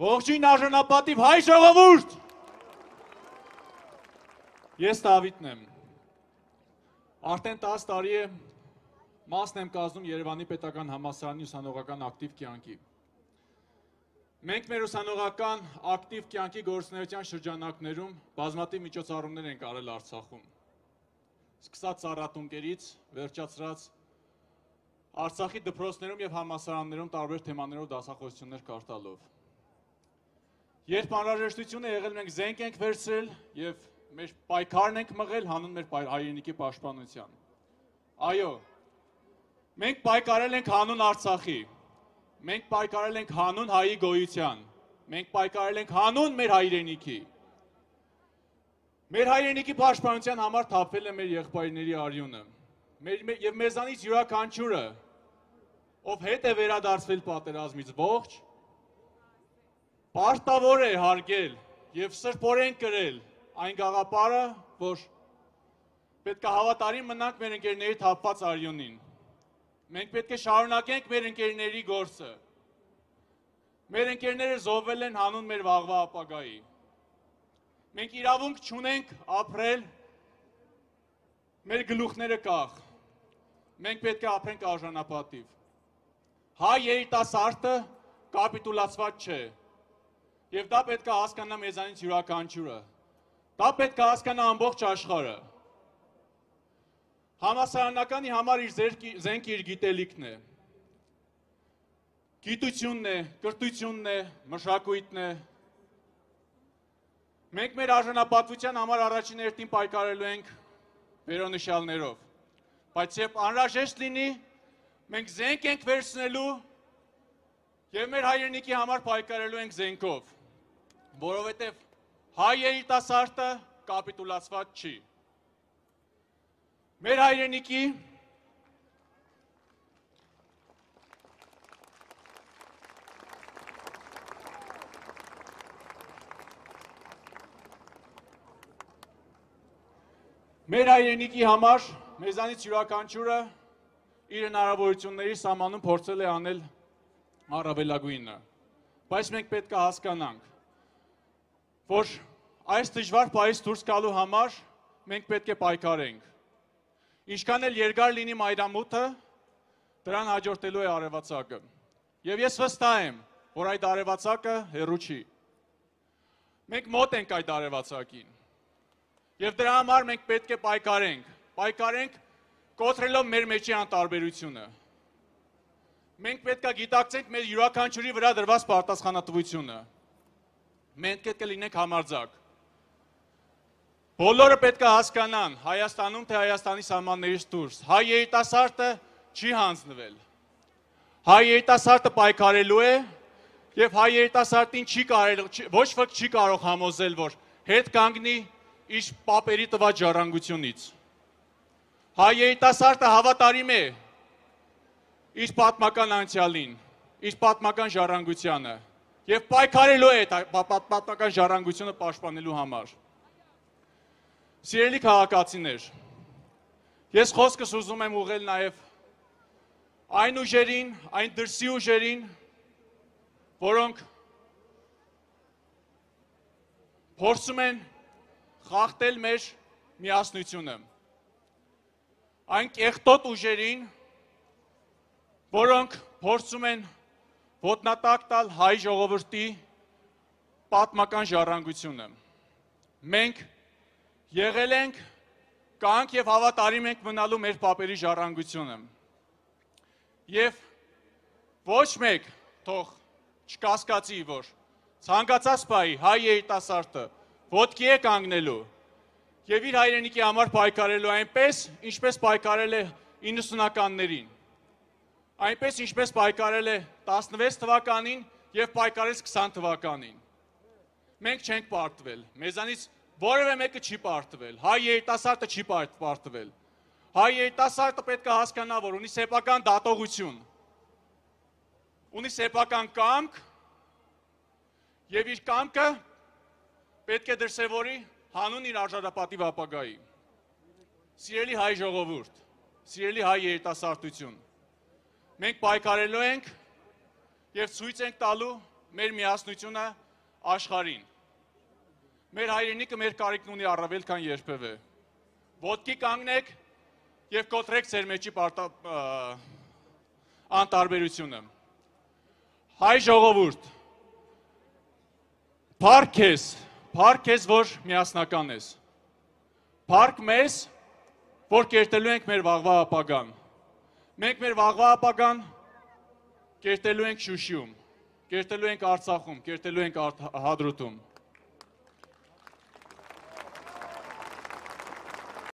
Ողջույն արժանապատիվ հայ ժողովուրդ։ Ես Դավիթն եմ։ Արդեն 10 տարի է մասն եմ կազմում Երևանի պետական համալսարանի ուսանողական ակտիվ կյանքի։ Մենք մեր ուսանողական ակտիվ կյանքի գործունեության շրջանակներում բազմաթիվ միջոցառումներ ենք արել Արցախում։ Սկսած ծառատունկերից, վերջացրած Արցախի դպրոցներում եւ համալսարաններում տարբեր թեմաներով դասախոսություններ կատարելով։ Երբ անհրաժեշտություն է եղել, մենք զենք ենք վերցրել եւ մեր պայքարն ենք մղել հանուն մեր հայրենիքի պաշտպանության։ Այո, մենք պայքարել ենք հանուն Արցախի, մենք պայքարել ենք հանուն հայի գոյության, մենք պայքարել ենք հանուն մեր հայրենիքի։ Մեր հայրենիքի պաշտպանության համար թափվել է մեր եղբայրների արյունը։ Եվ մեզանից յուրաքանչյուրը, ով հետ է վերադարձվել պատերազմից ողջ, պարտավոր է հարգել եւ սրբորեն կրել այն գաղափարը, որ պետք է հավատարիմ մնանք մեր ընկերների թափված արյունին։ Մենք պետք է շարունակենք մեր ընկերների գործը։ Մեր ընկերները զոհվել են հանուն մեր վաղվա ապագայի։ Մենք իրավունք չունենք ապրել մեր գլուխները կախ։ Մենք պետք է ապրենք արժանապատիվ։ Հայ երիտասարդը կապիտուլացված չէ։ Եվ դա պետք է հասկանա մեզանից յուրաքանչյուրը։ Դա պետք է հասկանա ամբողջ աշխարհը։ Համալսարանականի համար իր զենքը իր գիտելիքն է։ Գիտությունն է, կրթությունն է, մշակույթն է։ Մենք մեր արժանապատվության համար առաջին հերթին պայքարելու ենք վերոնշյալներով։ Բայց երբ անհրաժեշտ լինի, մենք զենք ենք վերցնելու եւ մեր հայրենիքի համար պայքարելու ենք զենքով, որովհետեւ հայ երիտասարդը կապիտուլացված չի։ Մեր հայրենիքի համար մեզանից յուրաքանչյուրը իր հնարավորությունների սահմանում փորձել է անել առավելագույնը։ Բայց մենք պետք է հասկանանք, որ այս դժվար պահից դուրս գալու համար մենք պետք է պայքարենք։ Ինչքան էլ երկար լինի մայրամուտը, դրան հաջորդելու է արևածագը։ Եվ ես վստահ եմ, որ այդ արևածագը հեռու չի։ Մենք մոտ ենք այդ արևածագին։ Եվ դրա համար մենք պետք է պայքարենք։ Պայքարենք կոտրելով մեր մեջի անտարբերությունը։ Մենք պետք է գիտակցենք մեր յուրաքանչյուրի վրա դրված պատասխանատվությունը։ Մենք պետք է լինենք համարձակ։ Բոլորը պետք է հասկանան Հայաստանում թե Հայաստանի սահմաններից դուրս։ Հայ երիտասարդը չի հանձնվել։ Հայ երիտասարդը պայքարելու է եւ հայ երիտասարդին ոչ ոք չի կարող համոզել, որ հետ կանգնի իր պապերի տված ժառանգությունից։ Հայ երիտասարդը հավատարիմ է իր պատմական անցյալին, իր պատմական ժառանգությանը եւ պայքարելու է պատմական ժառանգությունը պաշտպանելու համար։ Սիրելի քաղաքացիներ, ես խոսքս ուզում եմ ուղղել նաեւ այն ուժերին, այն դրսի ուժերին, որոնք փորձում են խախտել մեր միասնությունը։ Այն կեղտոտ ուժերին, որոնք փորձում են ոտնատակ տալ հայ ժողովրդի պատմական ժառանգությունը։ Մենք եղել ենք, կանք եւ հավատարիմ ենք մնալու մեր պապերի ժառանգությունը։ Եվ ոչ մեկ թող չկասկածի, որ ցանկացած պահի հայ երիտասարդը ոտքի է կանգնելու եւ իր հայրենիքի համար պայքարելու այնպես, ինչպես պայքարել է 90-ականներին, այնպես ինչպես պայքարել է 16 թվականին եւ պայքարեց 20 թվականին։ Մենք չենք պարտվել, մեզանից որևէ մեկը չի պարտվել, հայ երիտասարդը չի պարտվել։ Հայ երիտասարդը պետք է հասկանա, որ ունի սեփական դատողություն, ունի սեփական կամք եւ իր կամքը պետք է դրսևորի հանուն իր արժանապատիվ ապագայի։ Սիրելի հայ ժողովուրդ, սիրելի հայ երիտասարդություն, մենք պայքարելու ենք եւ ցույց ենք տալու մեր միասնությունը աշխարհին։ Մեր հայրենիքը մեր կարիքն ունի առավել քան երբևէ։ Ոտքի կանգնեք եւ կոտրեք ձեր մեջի անտարբերությունը։ Հայ ժողովուրդ, փառք քեզ, որ միասնական ես։ Փառք մեզ, որ կերտելու ենք մեր վաղվա ապագան։ Մենք մեր վաղվա ապագան կերտելու ենք Շուշիում, կերտելու ենք Արցախում, կերտելու ենք Հադրութում։